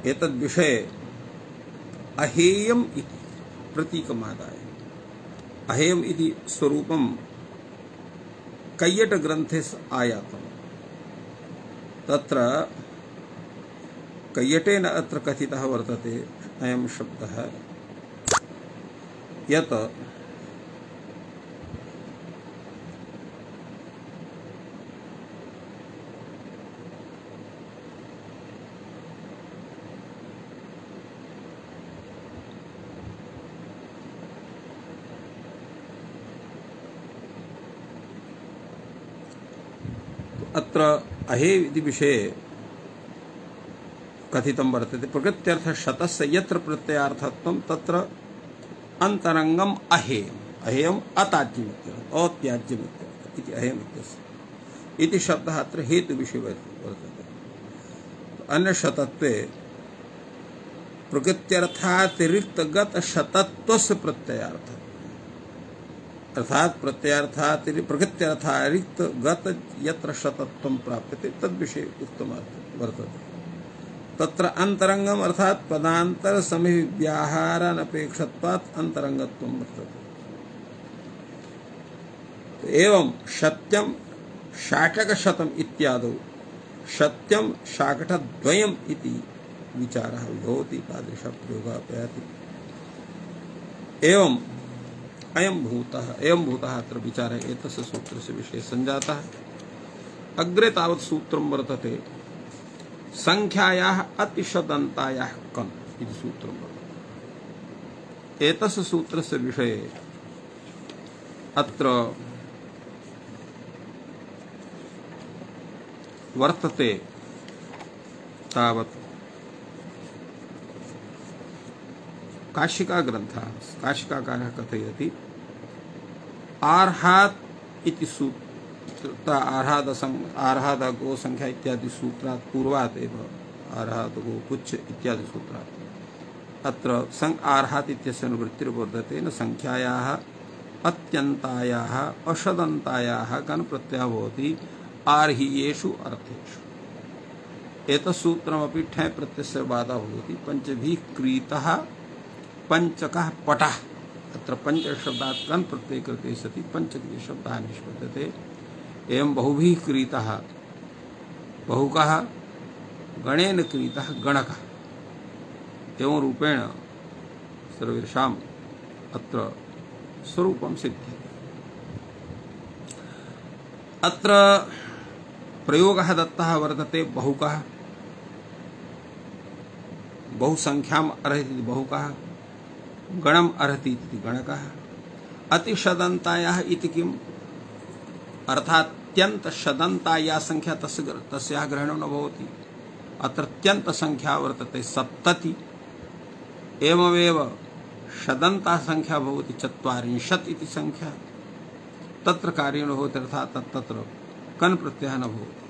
एतद्विषये अहेयम् इति प्रतीकमादाय, अहेयम् इति स्वरूपं कैयट ग्रन्थे आयातम्। तत्र कैयटेन अत्र कथितः वर्तते अयं शब्दः यत् अत्र अहे इति विषये कथितं वर्तते। प्रकृत्यर्थ शतस्य यत्र प्रत्ययार्थत्वं तत्र अंतरंगम अहेयम्, अहेयम् अत्याज्यमित्यर्थः, अत्याज्यमित्यर्थः इति अहेयम् इत्यस्य इति शब्दः अत्र हेतु विषये वर्तते। अन्य शतत्वे प्रकृत्यर्थातिरिक्तगत शतत्वस्य प्रत्ययार्थः, अर्थात प्रकृत्यर्थातिरिक्त गत यत्र शतत्वं प्राप्यते तद्विषये उक्तम् वर्तते। तत्र अंतरंगम अर्थात पदांतर समय व्याहारानपेक्षत्वात् अंतरंगत्वं वर्तते। एवं सत्यं शाकटशतम् इत्यादौ सत्यं शाकटद्वयम् इति विचारः भवति, तादृशः प्रयोगः अपयाति। एवं अयं भूतः अत्र विचारः एतस्य सूत्रस्य विषये सञ्जातः। अग्रे तावत् सूत्रं वर्तते संख्यायाः अतिशदन्तायाः कन् इति सूत्रं वर्तते। एतस्य सूत्रस्य विषये अत्र वर्तते तावत् काशिका ग्रन्थः, काशिकाकारः कथयति आर्हात् इति सूत्र, आर्हाद गो संख्या इत्यादि सूत्रात् पूर्वात् एव आर्हाद गो पुच्छ इत्यादि सूत्रात् अत्र आर्हात् इत्यस्य अनुवृत्तिर्वर्तते। न संख्यायाः अत्यन्तायाः अषदन्तायाः गण प्रत्ययः भवति आर्हीयेषु अर्थेषु। एतत्सूत्रमपि ठञ् प्रत्ययस्य बाधः भवति। पंचभिः क्रीतः पंचकः पटः अत्र पंचशब्दात् कन् प्रत्यय कृते सति पंचक्रिय शब्दः निष्पद्यते। एवं बहुभिः क्रीतः बहुकः गणेन क्रीतः गणकः एवं रूपेण सर्वेषाम् अत्र स्वरूपं सिद्ध्यते। अत्र प्रयोगः दत्तः वर्तते बहुकः बहुसंख्याम् अर्हति बहुकः गणम् अर्हति इति गणकः अतिशदन्तायाः इति किम् अर्थात् त्यन्त शदन्ताया संख्या तस्याः ग्रहणं न भवति। अत्र त्यन्त संख्या वर्तते 70 एवमेव शदन्ता संख्या भवति 40 इति संख्या तत्र कार्येण भवति अर्थात् तत्र कन् प्रत्ययः न भवति।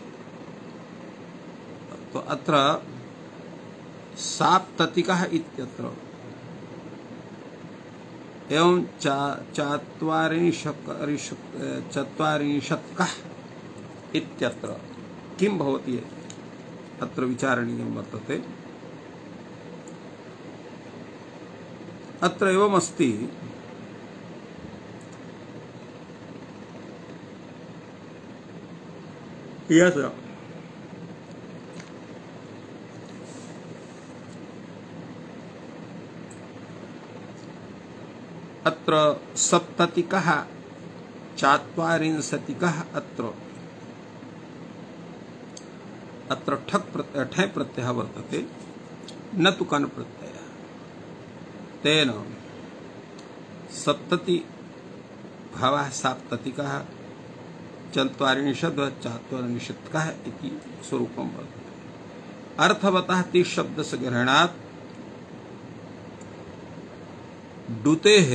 तो अत्र साप्ततिकः इत्यत्र एवं चत्वारिंशत्कः इत्यत्र किं भवति अत्र विचारणीयं वर्तते। अत्र एवमस्ति यत् अत्र सप्ततिकः चात्वारिंशतिकः अत्र ठक् प्रत्ययः वर्तते न तु कन् प्रत्ययः। तेन सप्तति भावः साप्ततिकः चात्वारिंशत्कः इति स्वरूपं वर्तते। अर्थवतः ति शब्दस्य ग्रहणात् डुतेः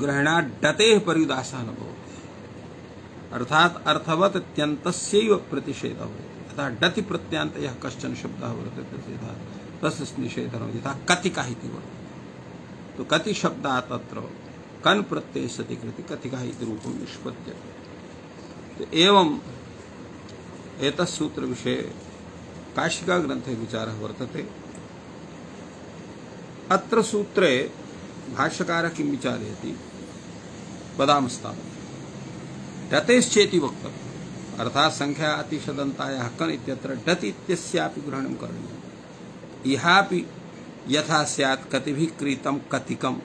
ग्रहणात् डतेः पर्युदासः न भवति। अर्थात् अर्थवत् त्यन्तस्यैव प्रतिषेधः भवति। यथा डति प्रत्यान्त यः कश्चन शब्दः वर्तते तस्य निषेधः यथा कतिकः इति वर्तते। तो कति शब्दात् अत्र कन् प्रत्यये सति कृते कतिकः इति रूपं निष्पद्यते। तो एवं एतत् सूत्र विषये काशिका ग्रन्थे विचारः वर्तते। अत्र सूत्रे भाष्यकारः किं विचारयति वदामस्तावत् डतेश्चेति वक्तव्यम् अर्थात् संख्या अतिशदन्तायाः कन् इत्यत्र डति इत्यस्यापि ग्रहणं करणीयम्। इहापि यथा स्यात् कतिभिः क्रीतं कतिकम्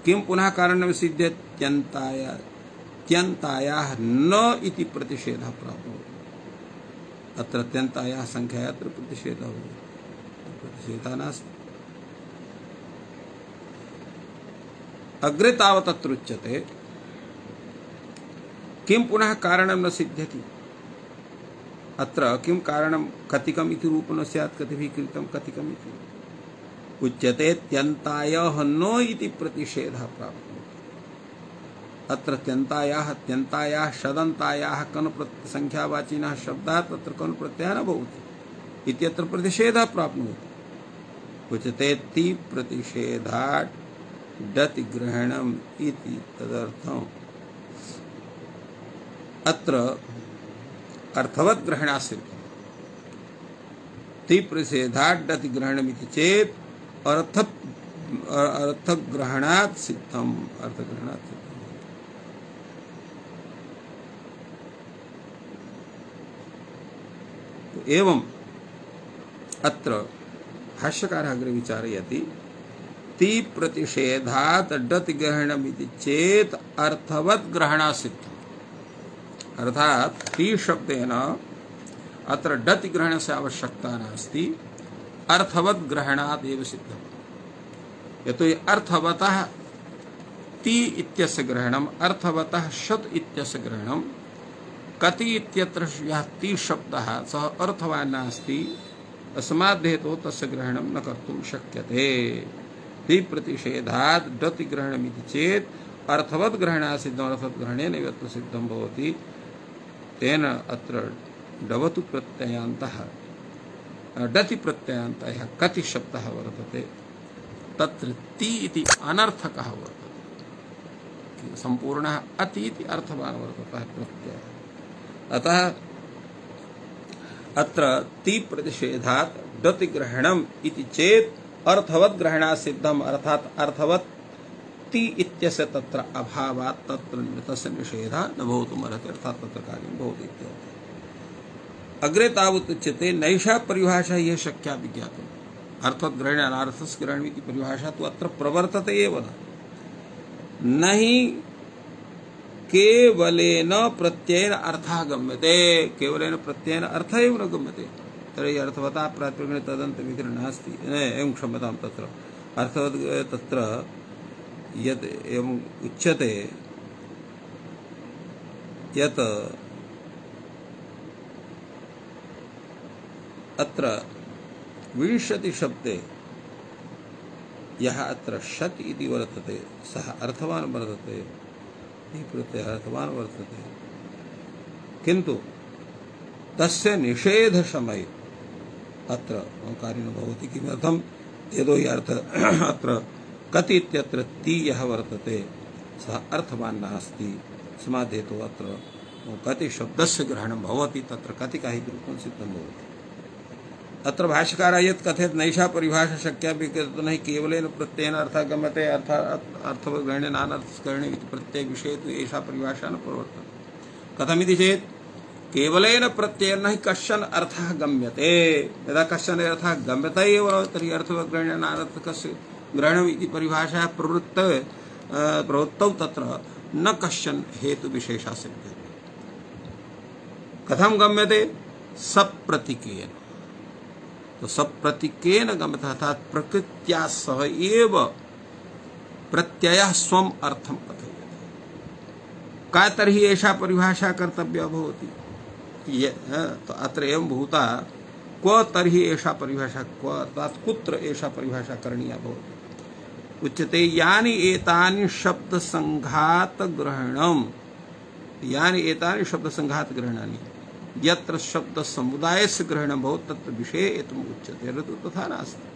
किं पुनः कारणं सिद्ध्येत् त्यन्तायाः न इति प्रतिषेधः प्राप्नोति। अत्र त्यन्तायाः संख्यायाः अत्र प्रतिषेधः भवति प्रतिषेधः नास्ति। अग्रे तावत् अत्र उच्यते किं पुनः कारणं न सिद्ध्यति। अत्र किं कारणं कतिकम् इति रूपं न स्यात् कतिभिः कृतं कतिकम् इति उच्यते त्यन्तायाः न इति प्रतिषेधः प्राप्नोति। अत्र त्यन्तायाः शदन्तायाः कन् संख्यावाचिनः शब्दाः तत्र कन् प्रत्ययः न भवति इत्यत्र प्रतिषेधः प्राप्नोति। उच्यते ति प्रतिषेधात् डति ग्रहणम् इति तदर्थम् अत्र अर्थवत् ग्रहणात् सिद्धम्। ति प्रतिषेधात् डति ग्रहणम् इति चेत् अर्थग्रहणात् सिद्धम् अर्थग्रहणात् सिद्धम्। एवं अत्र भाष्यकारः अग्रे विचारयति ति प्रतिषेधात् डति ग्रहणमिति चेत् अर्थवत् ग्रहणात् सिद्धम्। अर्थात् ति शब्देन अत्र डति ग्रहणस्य आवश्यकता नास्ति अर्थवत् ग्रहणात् एव सिद्धम्। यतोहि अर्थवतः ति इत्यस्य ग्रहणम् अर्थवतः शत इत्यस्य ग्रहणम् कति इत्यत्र यः ति शब्दः सः अर्थवान् नास्ति अस्माद् हेतोः तस्य ग्रहणं न कर्तुं शक्यते। ति प्रतिषेधात् डति ग्रहणमिति चेत् अर्थवत् ग्रहणात् सिद्धम् अर्थवत् ग्रहणेन एव सिद्धं भवति। तेन अत्र डवतु प्रत्ययान्तः डति प्रत्ययान्तः कति शब्दः वर्तते तत्र ति इति अनर्थकः वर्तते। सम्पूर्णः अति इति अर्थवान् वर्तते प्रत्ययः। अतः अत्र ति प्रतिषेधात् डति ग्रहणम् इति चेत् अर्थवत् ग्रहणात् सिद्धम् अर्थात् अर्थवत् ति इत्यस्य तत्र अभावात् तत्र तस्य निषेधः न भवितुमर्हति अर्थात् तत्र कार्यं भवति इत्यर्थः। अग्रे तावत् उच्यते नैषा परिभाषा ये शक्या विज्ञातुम् अर्थवत् ग्रहणे अनार्थस्य ग्रहणम् इति परिभाषा तु अत्र प्रवर्तते एव न हि केवलेन प्रत्ययेन अर्थः गम्यते केवलेन प्रत्ययेन अर्थः एव न गम्यते तर्हि अर्थवता प्रातिपदिकं तदन्तविग्रहः नास्ति एवं क्षम्यतां तत्र अर्थवत् तत्र यत् एवम् उच्यते यत् अत्र विंशति शब्दे यः अत्र षट् इति वर्तते सः अर्थवान् वर्तते प्रत्ययः अर्थवान् वर्तते किन्तु तस्य निषेध समये अत्र कार्य न भवति किमर्थं यतो हि अर्थ अत्र कति इत्यत्र ति यः वर्तते सः अर्थवान् नास्ति समाधेतु अत्र कति शब्दस्य ग्रहणं भवति तत्र कतिका हि रूपं सिद्धं भवति। अत्र भाष्यकारः यत् कथयत् नैषा परिभाषा शक्या विज्ञातुं न हि केवलेन प्रत्ययेन अर्थः गम्यते अर्थवद्ग्रहणे नानार्थग्रहणे इति प्रत्ययविषये तु एषा परिभाषा न प्रवर्तते। कथमिति चेत् केवलेन प्रत्ययेन न हि कश्चन अर्थः गम्यते यदा कश्चन अर्थः गम्यते एव तर्हि अर्थवद्ग्रहणे नानार्थकस्य ग्रहणम् इति परिभाषा प्रवृत्तौ तत्र न कश्चन हेतुविशेषः सिद्ध्यते। कथं गम्यते सप्रतीकेन तो सप्रतीकेन गम्यते अर्थात् प्रकृत्या सह एव प्रत्ययः स्वम् अर्थं कथयति का तर्हि एषा परिभाषा कर्तव्या भवति तो अत्र एवं भूता क्व तर्हि एषा परिभाषा क्व अर्थात् कुत्र एषा परिभाषा करणीया भवति उच्यते यानि एतानि शब्द संघात ग्रहणम् यानि एतानि शब्द संघात ग्रहणानि यत्र शब्द समुदायस्य ग्रहणं भवति तत्र विषये एतम् उच्यते न तु तथा नास्ति।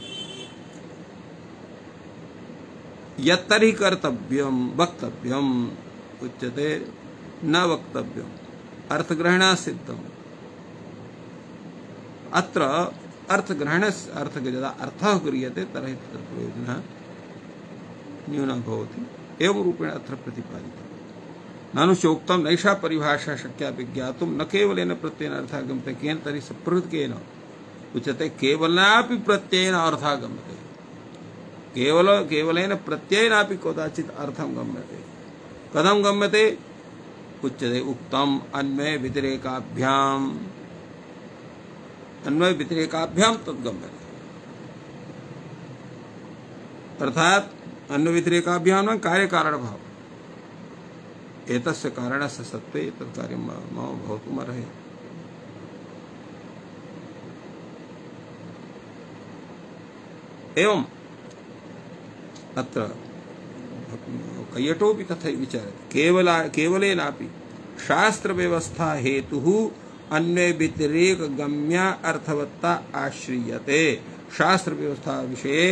यत्तर्हि कर्तव्यं वक्तव्यम् उच्यते न वक्तव्यम् अर्थग्रहणा सिद्धम् अत्र अर्थग्रहणस्य अर्थ यदा अर्थः क्रियते तर्हि तत्र प्रयोजनः न्यूनः भवति एवं रूपेण अत्र प्रतिपादितम्। ननु चोक्तं नैषा परिभाषा शक्या विज्ञातुं न केवलेन प्रत्ययेन अर्थः गम्यते केन तर्हि सप्रकृतिकेन उच्यते केवलापि प्रत्ययेन अर्थः गम्यते केवलेन प्रत्ययेनापि कदाचित् अर्थं गम्यते कथं गम्यते उच्यते उक्तम् अन्वय व्यतिरेकाभ्याम् तद् गम्यते अर्थात् अन्वय व्यतिरेकाभ्याम् न कार्यकारणभाव एतस्य कारणस्य सत्त्वे एतत् कार्यं मम भवितुमर्हति। एवम् अत्र कैयटोपि तथैव विचार्यते केवलेनापि शास्त्रव्यवस्था हेतुः अन्वय व्यतिरेक गम्या अर्थवत्ता आश्रियते शास्त्रव्यवस्था विषये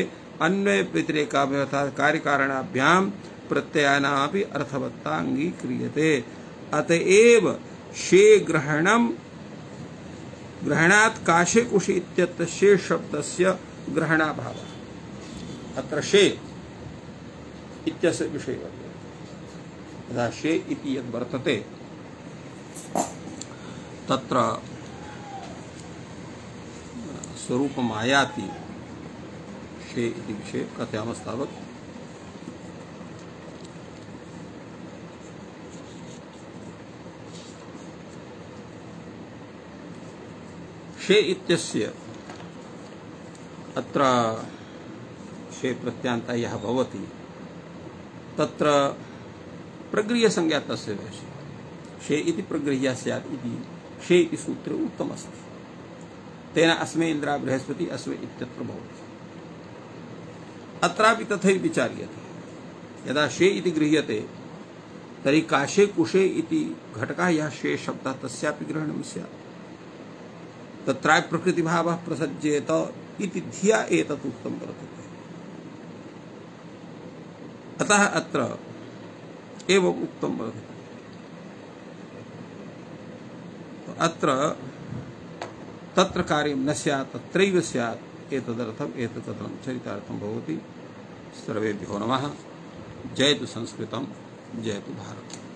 अन्वय व्यतिरेकाभ्यां कार्यकारणाभ्यां प्रत्ययानापि अर्थवत्ता अंगीक्रियते अतएव शे ग्रहणात् काशे कुशे इत्यत्र शे शब्दस्य ग्रहणाभावः अत्र शे इत्यस्य विषये वर्तते यदा शे इति यद् वर्तते तत्र स्वरूपम् आयाति शे इति विषये कथयामस्तावत् शे इत्यस्य अत्र शे प्रत्यान्तः यः भवति तत्र प्रगृह्यसंज्ञा तस्य भवति शे इति प्रगृह्यः स्यात् इति शे इति सूत्रे उक्तमस्ति तेन अस्मै इन्द्रा बृहस्पति अस्मै इत्यत्र भवति अत्रापि तथैव विचार्यते यदा शे इति गृह्यते तर्हि काशे कुशे इति घटकः यः शे शब्दः तस्यापि ग्रहणं स्यात् तत्रापि प्रकृतिभावः प्रसज्येत इति धिया एतत् उक्तं वर्तते अतः अत्र एवम् उक्तं वर्तते अत्र तत्र कार्यं न स्यात् तत्रैव स्यात् एतदर्थम् एतत्कथनं चरितार्थं भवति। सर्वेभ्यो नमः। जयतु संस्कृतं, जयतु भारतम्।